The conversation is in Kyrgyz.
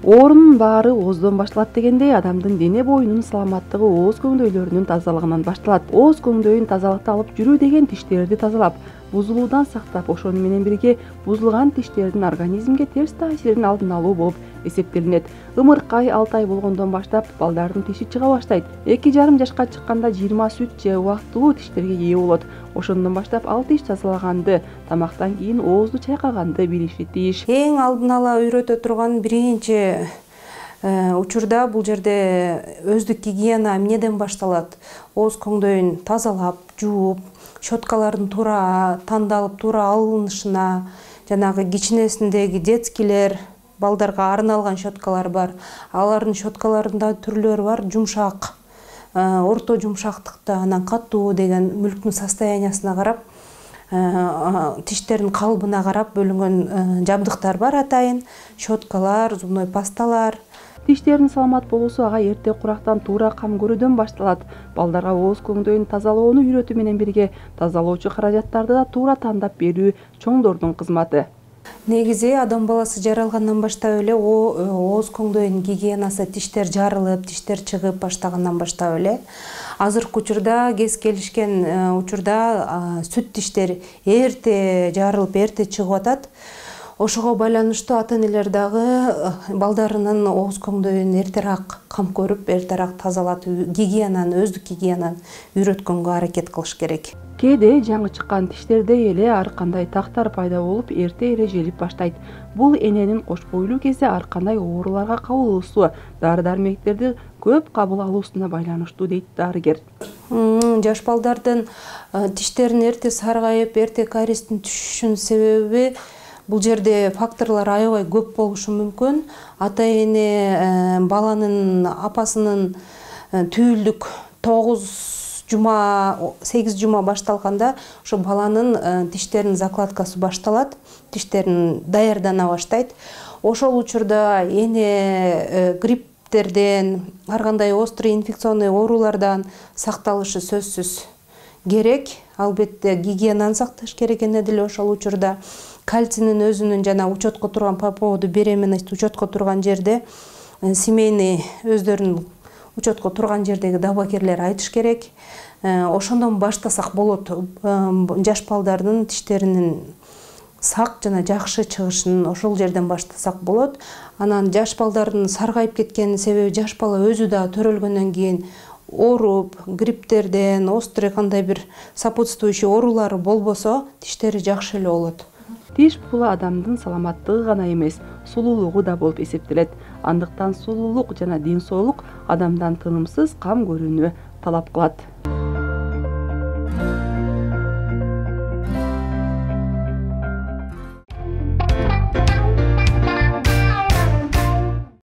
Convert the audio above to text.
Оорунун баары ооздон башталат дегендей, адамдын дене боюнун саламаттыгы ооз көңдөйлөрүнүн тазалыгынан башталат. Ооз көңдөйүн тазалыкта алып жүрүү деген тиштерди тазалап, бузулуудан сактап, ошону менен бирге бузулган тиштердин организмге терс таасирин алдын алуу болуп эсептелинет. Ымыркай 6 ай болгондон баштап балдардын тиши чыга баштайт. 2,5 жашка чыкканда 20 сүт же убактылуу тиштерге ээ болот. Ошондон баштап ал тиш тазалаганды, тамактан кийин оозду чайкаганды билиши тийиш. Эң алдын ала үйрөтө турган биринчи учурда бул жерде өздүк гигиена эмнеден башталат? Ооз көңдөйүн тазалап, жууп, щеткалардын туура тандалып, туура алынышына, жанагы кичинесиндеги детскийлер, балдарга арналган щеткалар бар. Алардын щеткаларында түрлөрү бар, жумшак, орто жумшактыкта, анан катуу деген мүлктүн состояниясына карап, тиштердин калыбына карап бөлүнгөн жабдыктар бар атайын, щеткалар, зубной пасталар. Тиштердин саламат болуусу ага эрте курактан туура кам көрүүдөн башталат. Балдарга ооз көңдөйүн тазалоону үйрөтүү менен бирге тазалоочу каражаттарды да туура тандап берүү чоңдордун кызматы. Негизи адам баласы жаралгандан баштап эле ооз көңдөйүн гигиенасы, тиштер жарылып, тиштер чыгып баштагандан баштап эле азыркы учурда кез келишкен учурда сүт тиштер эрте жарылып, эрте чыгып атат. Ошого байланыштуу ата-энелер дагы балдарынын ооз көңдөйүн эртерээк кам көрүп, эртерээк тазалатып, өздүк гигиенаны үйрөткөнгө аракет кылыш керек. Кээде жаңы чыккан тиштерде эле ар кандай тактар пайда болуп, эрте эле желип баштайт. Бул эненин кош бойлуу кезде ар кандай ооруларга кабылуусу, дары-дармектерди көп кабыл алуусуна байланыштуу дейт дарыгер. Жаш балдардын тиштерин эрте саргайып, эрте кариестин түшүшүнүн себеби бул жерде факторлор аябай көп болушу мүмкүн. Ата-эне баланын апасынын түйүлдүк 8 жума башталганда ошо баланын тиштеринин закладкасы башталат, тиштерин даярдана баштайт. Ошол учурда эне грипптерден, ар кандай острый инфекционный оорулардан сакталышы сөзсүз керек. Албетте гигиенаны сакташ керек эне деле ошол учурда. Кальцийнин өзүнүн жана учетко турган по поводу беременности учетко турган жерде семейный өздөрүнүн учетко турган жердеги дабагерлер айтыш керек. Ошондон баштасак болот. Жаш балдардын тиштеринин сак жана жакшы чыгышын ошол жерден баштасак болот. Анан жаш балдардын саргайып кеткенин себеби жаш бала өзү да төрөлгөндөн кийин ооруп, грипптерден, острый кандай бир сопутствующий оорулары болбосо, тиштери жакшы эле болот. Тиш бул адамдын саламаттыгы гана эмес, сулуулугу да болуп эсептелет. Андыктан сулуулук жана ден соолук адамдан тынымсыз кам көрүүнү талап кылат.